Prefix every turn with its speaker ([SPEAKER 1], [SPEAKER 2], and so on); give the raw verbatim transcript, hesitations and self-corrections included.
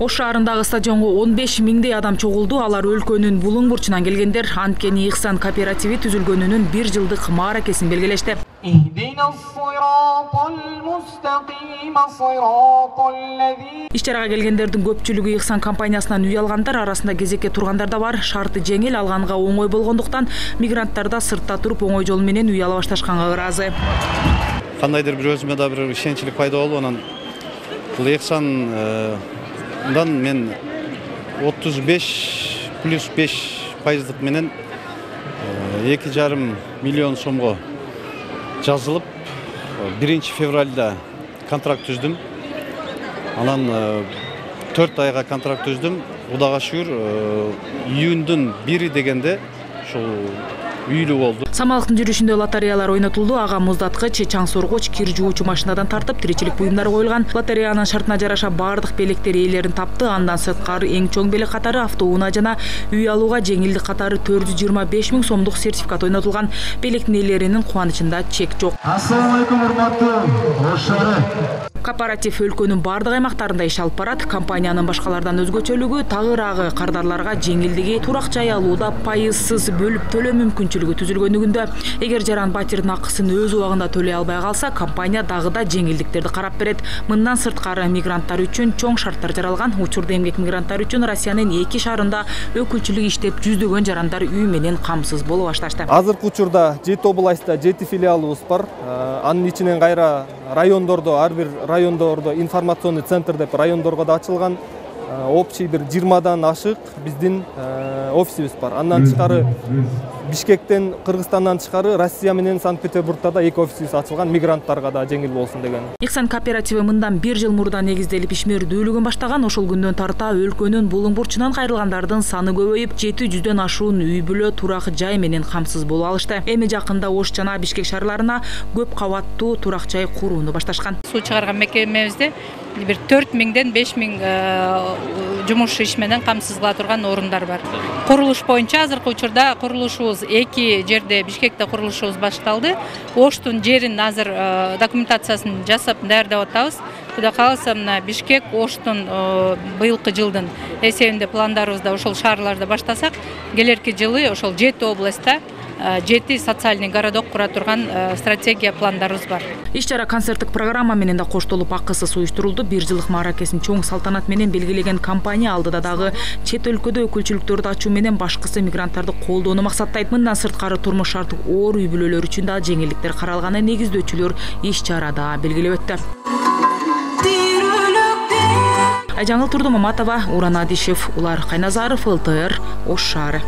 [SPEAKER 1] Ош шаарындагы стадионго он беш миңдей адам чогулду. Алар өлкөнүн булуң бурчунан келгендер. Анткени Ихсан кооперативи түзүлгөнүнүн бир жылдык мааракесин белгилешти. Иш-чарага келгендердин көпчүлүгү Ихсан компаниясынан үй алгандар, арасында кезекке тургандар да бар. Шарты жеңил, алганга оңой болгондуктан мигранттар да сыртта туруп оңой жол менен үй ала башташканга ыраазы.
[SPEAKER 2] Кандайдыр бир өзүмө да бир ишенчилик пайда болуп, анан бул Ихсандан мен отуз беш плюс беш пайыздык менен эки жарым миллион сомго жазылып, биринчи февралда контракт түздүм. Анан төрт айга контракт түздүм. Кудайга шүгүр, июндун бири дегенде ушул үйлүү болду.
[SPEAKER 1] Самалыктын жүрүшүндө лотереялар ойнотулду. Ага муздаткыч, чаң соргоч, кир жуучу машинадан тартып тиричилик буюмдары коюлган. Лотереянын шартына жараша бардык белектер ээлерин тапты. Андан сырткары эң чоң белек катары автоунаа жана үй алууга жеңилдик катары төрт жүз жыйырма беш миң сомдук сертификат ойнотулган. Белектин ээлеринин кубанычында чек жок.
[SPEAKER 3] Ассалам алейкум, урматтуу Ош шаары.
[SPEAKER 1] Кооператив өлкөнүн бардык аймактарында иш алып барат. Компаниянын башкалардан өзгөчөлүгү тагыраагы кардарларга жеңилдиги, турак жай алууда пайызсыз бөлүп төлөө мүмкүнчүлүгү түзүлгөнүгүндө. Эгер жаран батирдин акысын өз убагында төлөй албай калса, компания дагы да жеңилдиктерди карап берет. Мындан сырткары мигранттар үчүн чоң шарттар жаралган. Учурда эмгек мигранттар үчүн Россиянын эки шаарында өкүлчүлүк иштеп, жүздөгөн жарандар үй менен камсыз боло башташты.
[SPEAKER 4] Азыркы учурда жети областта жети филиалыбыз бар. Анын ичинен кайра райондордо, ар бир райондордо информационный центр деп райондорго да ачылган. Общий бир жыйырмадан ашык биздин офисибиз бар. Андан тышкары Бишкектен, Кыргызстандан тышкары Россия менен Санкт-Петербургда да эки офисибиз ачылган, мигранттарга да жеңил болсун деген.
[SPEAKER 1] Ихсан кооперативи мындан бир жыл мурда негизделип ишмердүүлүгүн баштаган. Ошол күндөн тарта өлкөнүн булуң бурчунан кайрылгандардын саны көбөйүп, жети жүздөн ашуун үй бүлө турак жай менен камсыз болуп алышты. Эми жакында Ош жана Бишкек шаарларына көп кабаттуу турак жай курууну башташкан.
[SPEAKER 5] Суу чыгарган мекемебизде бир төрт миңден беш миң жумуш иш менен камсыз кыла турган орундар бар. Курулуш боюнча азыркы учурда курулушубуз эки жерде, Бишкекте курулушубуз башталды. Оштун жерин азыр документациясын жасап даярдап атабыз. Кудай кааласа, мына Бишкек, Оштун быйылкы жылдын эсебинде пландарыбызда ошол шаарларда баштасак, келерки жылы ошол жети областта жети социальный городок кура турган стратегия пландарыбыз бар.
[SPEAKER 1] Иш-чара концерттик программа менен да коштолуп акысыз уюштурулду. Бир жылдык мааракесин чоң салтанат менен белгилеген компания алдыда дагы чет өлкөдө өкүлчүлүктөрдү ачуу менен башкысы мигранттарды колдоону максаттайт. Мындан сырткары турмуш шарты оор үй бүлөлөр үчүн да жеңилдиктер каралганын негиздөөчүлөр иш-чарада белгилеп өттү. Айжаңыл Турдумаматова, Уран Адишев, Улар Кайназаров, эл тэ эр, Ош шаары.